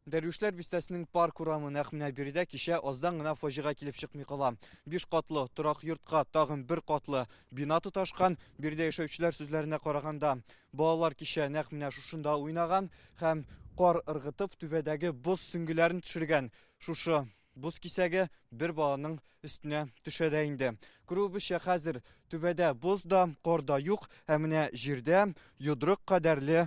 Дәрвишләр бистәсенең Парк урамы нәкъ менә биредә кичә аздан гына фаҗига килеп чыкмый кала. Биш катлы торак йортка тагын бер катлы бина тоташкан. Биредә яшәүчеләр сүзләренә караганда, балалар кичә нәкъ менә шушында уйнаган һәм кар ыргытып түбәдәге боз сөңгеләрен төшергән. Шушы боз кисәге бер баланың өстенә төшә дә инде. Күрүебезчә, хәзер түбәдә боз да, кар да юк, ә менә җирдә йодрык кадәрле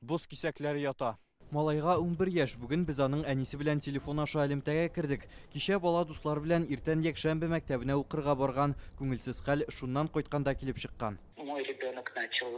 боз кисәкләре ята. Малайга 11 яшь. Бүген без аның әнисе белән телефон аша элемтәгә кердек. Кичә бала дуслары белән иртән якшәмбе мәктәбенә укырга барган. Күңелсез хәл шуннан кайтканда килеп чыккан. Мой ребенок начал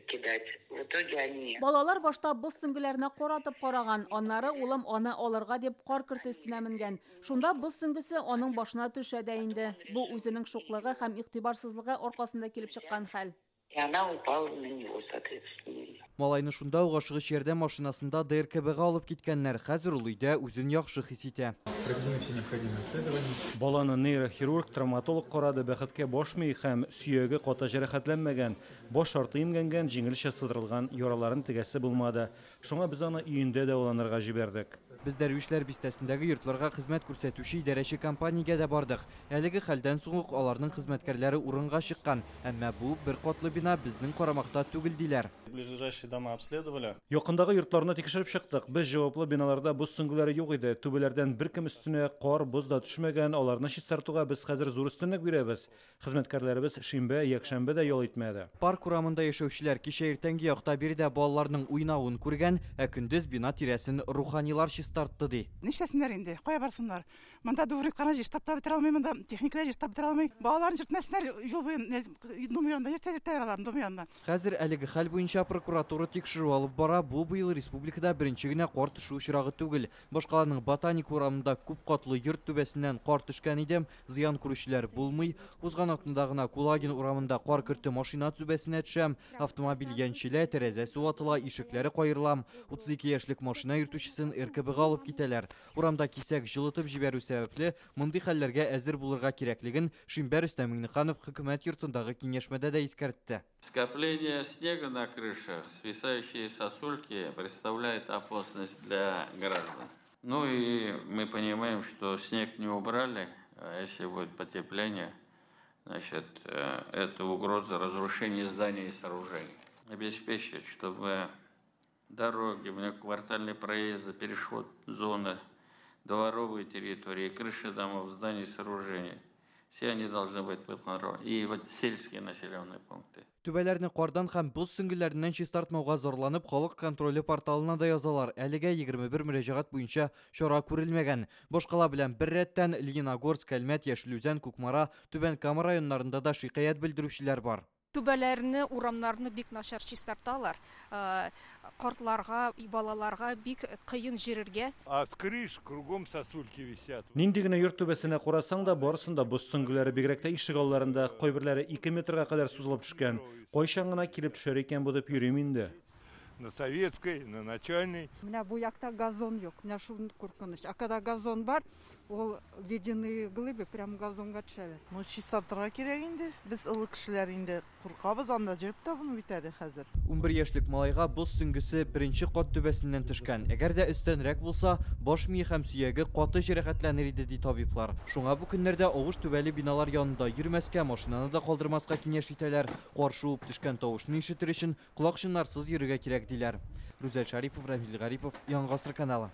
кидать. В итоге они... Балалар башта боз сөңгеләренә кар атып караган, аннары улым аны алырга дип кар көрте өстенә менгән. Шунда боз сөңгесе аның башына төшә дә инде. Бу үзенең шуклыгы һәм игътибарсызлыгы аркасында килеп чыккан хәл. И она упала на него, соответственно. Малайны шунда ук ашыгыч ярдәм машинасында ДРКБга алып киткәннәр. Хәзер ул өйдә үзен яхшы хис итә. Проведены все необходимые исследования. Баланы нейрохирург, травматолог карады, бәхеткә баш мие һәм сөяге каты җәрәхәтләнмәгән. Баш арты имгәнгән, җиңелчә сыдырылган яраларын тегәсе булмады. Шуңа без аны өендә дәваланырга җибәрдек. Без Дәрвишләр бистәсендәге йортларга хезмәт күрсәтүче идарәче компаниягә дә бардык. Әлеге хәлдән соң ук аларның хезмәткәрләре урынга чыккан. Әмма бу бер катлы бина безнең карамакта түгел, диләр. Ближайшие дома обследовали. Якындагы йортларны тикшереп чыктык. Без җаваплы биналарда боз сөңгеләре юк иде. Түбәләрдән беркем өстенә кар, боз да төшмәгән. Аларны чистартуга без хәзер зур өстенлек бирәбез. Хезмәткәрләребез шимбә, якшәмбе дә ял итмәде. Парк урамында яшәүчеләр кичә иртәнге якта биредә балаларның уйнавын күргән, ә көндез бина тирәсен руханилар чистартты, ди. Нишләсеннәр инде, кая барсыннар? Монда дворник кына җыештап та бетерә алмый, монда техника да җыештап бетерә алмый. Балаларын йөртмәсеннәр юл буен, дом янында, йөртә йөртәләр аларны дом янына. Хәзер әлеге хәл буенча прокуратура тикшерү алып бара. Бу быел республикада беренче генә кар төшү очрагы түгел. Башкаланың Ботаник урамында күп катлы йорт түбәсеннән кар төшкән иде. Зыян күрүчеләр булмый. Узган атнада гына Кулагин урамында кар көрте машина түбәсенә төшә. Автомобиль яньчелә, тәрәзәсе ватыла, ишекләре каерыла. 32 яшьлек машина йөртүчесен РКБга алып китәләр. Урамда кисәк җылытып җибәрү сәбәпле мондый хәлләргә әзер булырга кирәклеген шимбә Рөстәм Миңнеханов хөкүмәт йортындагы киңәшмәдә дә искәртте. Скопление снега на крышах, свисающие сосульки представляют опасность для граждан. Ну и мы понимаем, что снег не убрали, а если будет потепление, значит, это угроза разрушения зданий и сооружений. Обеспечить, чтобы дороги, внеквартальные проезды, переход зоны, дворовые территории, крыши домов, зданий и сооружений. Все они должны быть под контролем. И вот сельские населенные пункты. Түбәләрне кардан һәм боз сөңгеләреннән чистартмауга зарланып, халык контроле порталына да язалар. Әлегә 21 мөрәҗәгать буенча чара күрелмәгән. Башкала белән бер рәттән Лениногорск, Әлмәт, Яшел Үзән, Кукмара, Түбән Кама районнарында да шикаять белдерүчеләр бар. Түбәләрне, урамнарны бик начар чистарталар. Картларга, балаларга бик кыен йөрергә. А с крыш кругом сосульки висят. Нинди генә йорт түбәсенә карасаң да, барысында боз сөңгеләре, бигрәк тә ишек алларында, кайберләре 2 метрга кадәр сузылып төшкән. Кайчан гына килеп төшәр икән бу дип йөрим инде. На Советской, на Начальной. Менә бу якта газон юк, менә шул куркыныч. А когда газон бар, ул ледяные глыбы прям газонга төшәләр. Ну, чистартырга кирәк инде. Без олы кешеләр инде куркабыз, анда йөреп тә булмый бит әле хәзер. 11 яшьлек малайга боз сөңгесе беренче кат түбәсеннән төшкән. Әгәр дә өстәнрәк булса, баш мие һәм сөяге каты җәрәхәтләнер иде, ди табиблар. Шуңа бу көннәрдә авыш түбәле биналар янында йөрмәскә, машинаны да калдырмаска киңәш итәләр. Кар шуып төшкән тавышны ишетер өчен колакчыннарсыз йөрергә кирәк, диләр. Рүзәл Шарипов, Рәмзил Гарипов, Яңа Гасыр каналы.